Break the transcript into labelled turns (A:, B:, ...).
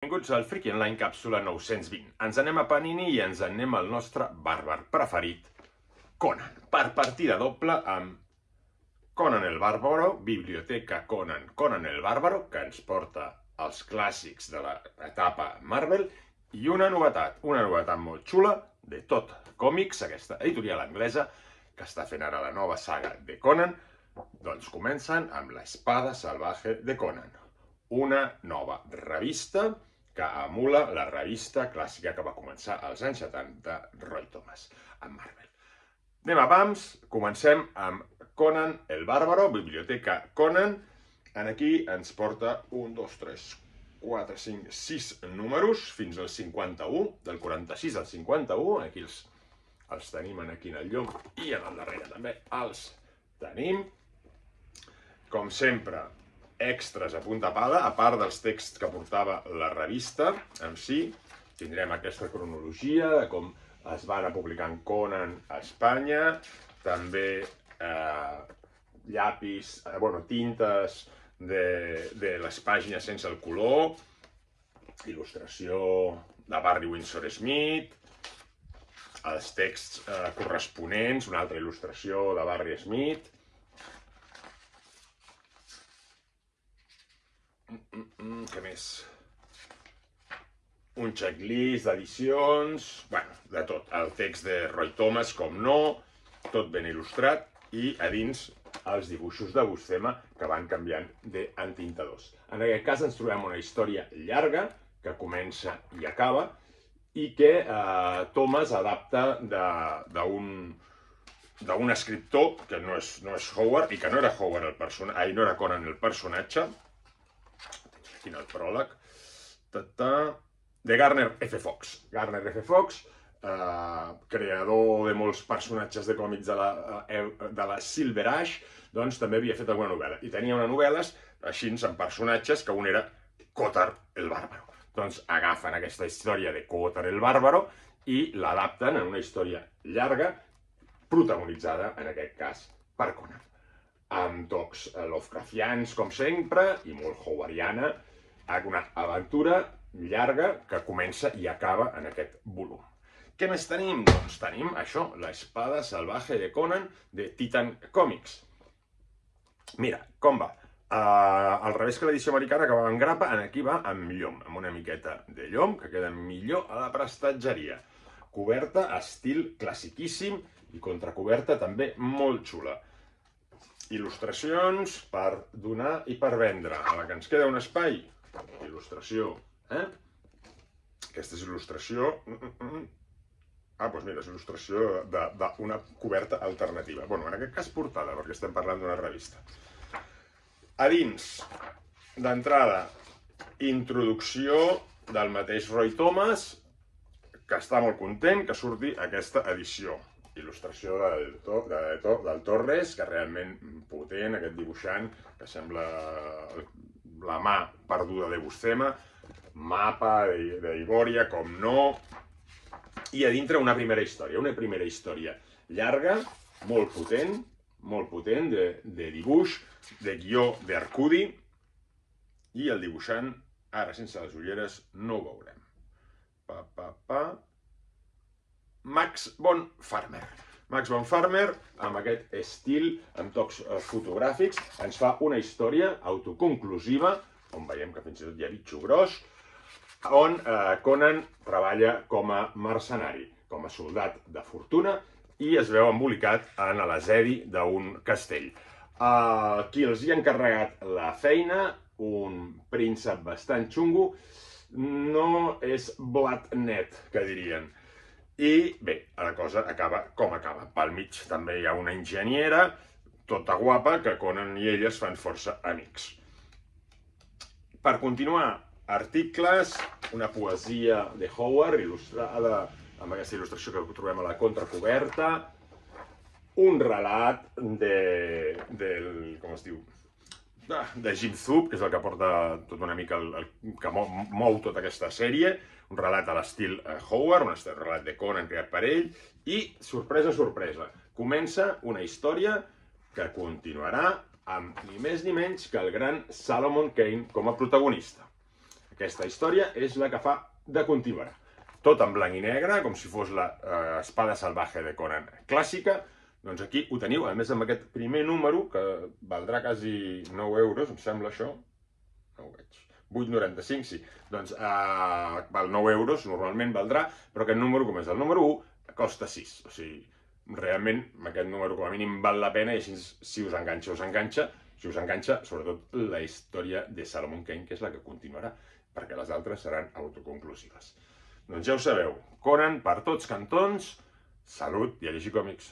A: Benvinguts al Freaky Online càpsula 920. Ens anem a Panini i ens anem al nostre bàrbar preferit, Conan. Per partida doble amb Conan el Bàrbaro, Biblioteca Conan, Conan el Bàrbaro, que ens porta els clàssics de l'etapa Marvel, i una novetat molt xula de Tot Còmics, aquesta editorial anglesa, que està fent ara la nova saga de Conan. Doncs comencen amb l'Espada Salvaje de Conan, una nova revista que emula la revista clàssica que va començar als anys 70 Roy Thomas amb Marvel. Anem a pams, comencem amb Conan el Bàrbaro, Biblioteca Conan. Aquí ens porta 1, 2, 3, 4, 5, 6 números fins al 51, del 46 al 51. Aquí els tenim aquí en el llom i en el darrere també els tenim. Com sempre, extras a punta pala, a part dels texts que portava la revista en si. Tindrem aquesta cronologia de com es va anar publicant Conan a Espanya, també llapis, tintes de les pàgines sense el color, il·lustració de Barry Windsor Smith, els texts corresponents, una altra il·lustració de Barry Smith. Què més? Un checklist d'edicions, de tot. El text de Roy Thomas, com no, tot ben il·lustrat, i a dins els dibuixos de Buscema que van canviant d'entintadors. En aquest cas ens trobem una història llarga que comença i acaba i que Thomas adapta d'un escriptor que no és Howard i que no era Howard el personatge, no era Conan el personatge. Aquí el pròleg, de Gardner F. Fox. Gardner F. Fox, creador de molts personatges de còmics de la Silver Age, doncs també havia fet alguna novel·la. I tenia una novel·la així amb personatges que un era Cotar el Bàrbaro. Doncs agafen aquesta història de Cotar el Bàrbaro i l'adapten en una història llarga, protagonitzada, en aquest cas, per Conan. Amb tocs Lovecraftians, com sempre, i molt howardiana, una aventura llarga que comença i acaba en aquest volum. Què més tenim? Doncs tenim això, l'Espada Salvaje de Conan de Titan Comics. Mira, com va? Al revés que l'edició americana, que va en grapa, aquí va amb llom, amb una miqueta de llom, que queda millor a la prestatgeria. Coberta estil classiquíssim i contracoberta també molt xula. Il·lustracions per donar i per vendre. A la que ens queda un espai, il·lustració. Aquesta és il·lustració... Doncs mira, és il·lustració d'una coberta alternativa. En aquest cas portada, perquè estem parlant d'una revista. A dins, d'entrada, introducció del mateix Roy Thomas, que està molt content que surti aquesta edició. Il·lustració del Torres, que realment potent, aquest dibuixant, que sembla la mà perduda de Buscema, mapa d'Ivòria, com no, i a dintre una primera història llarga, molt potent, de dibuix, de guió d'Arcudi, i el dibuixant, ara sense les ulleres, no ho veurem. Max von Farmer. Max von Farmer, amb aquest estil, amb tocs fotogràfics, ens fa una història autoconclusiva, on veiem que fins i tot hi ha bitxo gros, on Conan treballa com a mercenari, com a soldat de fortuna, i es veu embolicat en l'asedi d'un castell. Qui els hi ha encarregat la feina, un príncep bastant xungo, no és blat net, que dirien. I bé, la cosa acaba com acaba. Pel mig també hi ha una enginyera, tota guapa, que Conan i ella es fan força amics. Per continuar, articles, una poesia de Howard, il·lustrada amb aquesta il·lustració que trobem a la contracoberta, un relat com es diu, de Jim Zub, que és el que porta tot una mica, el que mou tota aquesta sèrie, un relat a l'estil Howard, un relat de Conan creat per ell, i, sorpresa, sorpresa, comença una història que continuarà amb ni més ni menys que el gran Solomon Kane com a protagonista. Aquesta història és la que fa de continuarà. Tot en blanc i negre, com si fos la Espada Salvaje de Conan clàssica. Doncs aquí ho teniu, a més amb aquest primer número, que valdrà quasi 9 euros, em sembla això. No ho veig. 8,95, sí. Doncs val 9 euros, normalment valdrà, però aquest número, com és el número 1, costa 6. O sigui, realment, aquest número com a mínim val la pena i així, si us enganxa, us enganxa. Si us enganxa, sobretot, la història de Solomon Kane, que és la que continuarà, perquè les altres seran autoconclusives. Doncs ja ho sabeu, Conan per tots cantons, salut i a llegir còmics.